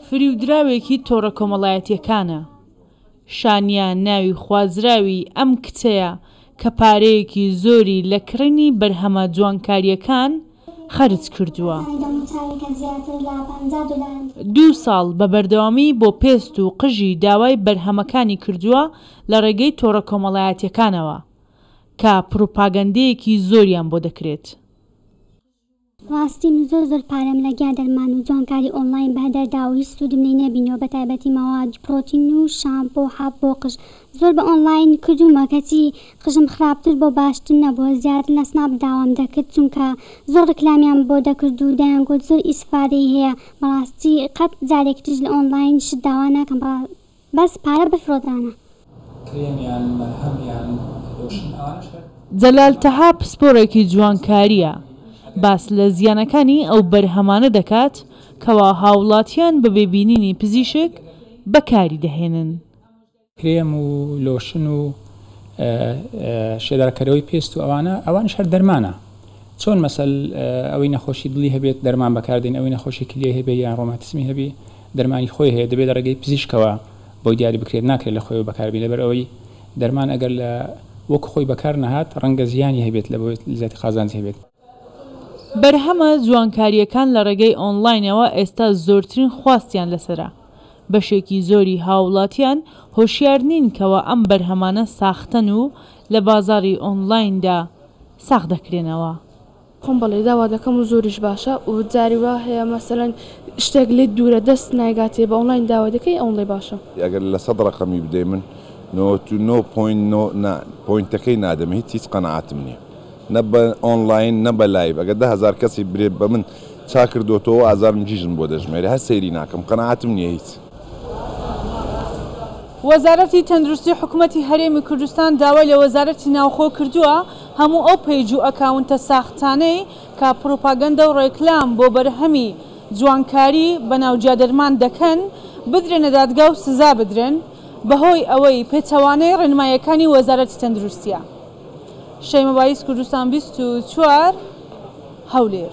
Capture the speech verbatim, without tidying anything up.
فریودراوێکی تۆڕە کۆمەڵایەتییەکانە. شانیا ناوی خوازراوی ئەم کچەیە کە پارەیەکی زۆری لە کڕینی بەرهەمە جوانکارییەکان خەرج کردووە. دوو ساڵ بە بەردەوامی بۆ پێست و قژی داوای بەرهەمەکانی کردووە لە ڕێگەی تۆڕە کۆمەڵایەتییەکانەوە کە پڕوپاگەندەیەکی زۆریان بۆ دەکرێت. ڕاستی من زۆر زۆر پارەم لە گیا دەرمان و جوانکاری ئۆنلاین بەهەدەر داوە و هیچ سوودم لێی نەبینیوە بەتایبەتی مەواد پرۆتین و شامپۆ و حەب بۆ قژ زۆر بە ئۆنلاین کردوومە کەچی قژم خراپتر بۆ باشتر نەبووە زیاتر لە سناپ داوام دەکرد چونکە زۆر ڕیکلامیان بۆ دەکرد و دەیانگوت زۆر ئیسفادەی هەیە بەڕاستی قەت جارێکی تریش لە ئۆنلاین شت داوا ناکەم بەس پارە بفرۆتانە. کرێم یان مەرهەم یان لۆشن ئەوانەش هەر. جەلال تەها پسپۆڕێکی جوانکارییە، باس لە زیانەکانی ئەو بەرهەمانە دەکات کەوا هاوڵاتیان بەبێ بینینی پزیشک بەکاری دەهێنن. کرێم و لۆشن و شێدارکەرەوەی پێست و ئەوانە، ئەوانیش هەر دەرمانە. چۆن مەسەل ئەوەی نەخۆشی دڵی هەبێت دەرمان بەکاردێن، ئەوەی نەخۆشی کلیەی هەبێت یان ڕۆماتیزمی هەبێ دەرمانی خۆی هەیە، دەبێت لە ڕێگەی پزیشکەوە بۆی دیاری بکرێت، ناکرێت لە خۆیەوە بەکاربێت، لەبەر ئەوەی دەرمان ئەگەر لە وەک خۆی بەکار نەهات ڕەنگە زیانی هەبێت لە بۆی زیاتر قازانجی هەبێت. بەرهەمە جوانکارییەکان لە ڕێگەی ئۆنلاینەوە ئێستا زۆرترین خواستیان لەسەرە، بەشێکی زۆری هاوڵاتیان هۆشیار نین کەوا ئەم بەرهەمانە ساختەن و لە بازاڕی ئۆنلایندا ساغ دەکرێنەوە. خۆم بەڵێ داوا دەکەم و زۆریش باشە و جاری وا هەیە مەسەلەن شتێک لێت دوورە دەست نایگاتێ بە ئۆنلاین داوا دەکەی ئەوەندەی باشە. ئەگەر لە سەد ڕەقەمی بدەی من نەوەت و نۆ point نۆ نا point ەکەی نادەم هیچ هیچ قەناعەتم نیە نە بە ئۆنلاین نە بە live ئەگەر دە هەزار کەسی برێ بە من چا کردۆتەوە ئازارم گیژم بۆ دەژمێرێ هەر سەیری ناکەم قەناعەتم نیە هیچ. وەزارەتی تەندروستی حکومەتی هەرێمی کوردستان داوای لە وەزارەتی ناوخۆ کردووە هەموو ئەو page و account ە ساختانەی کە پڕوپاگەندە و ڕێکلام بۆ بەرهەمی جوانکاری بەناو جیادەرمان دەکەن بدرێنە دادگا و سزا بدرێن بەهۆی ئەوەی پێچەوانەی ڕێنماییەکانی وەزارەتی تەندروستیە. شەیمە بایز، کوردستان بیست و چوار، هەولێر.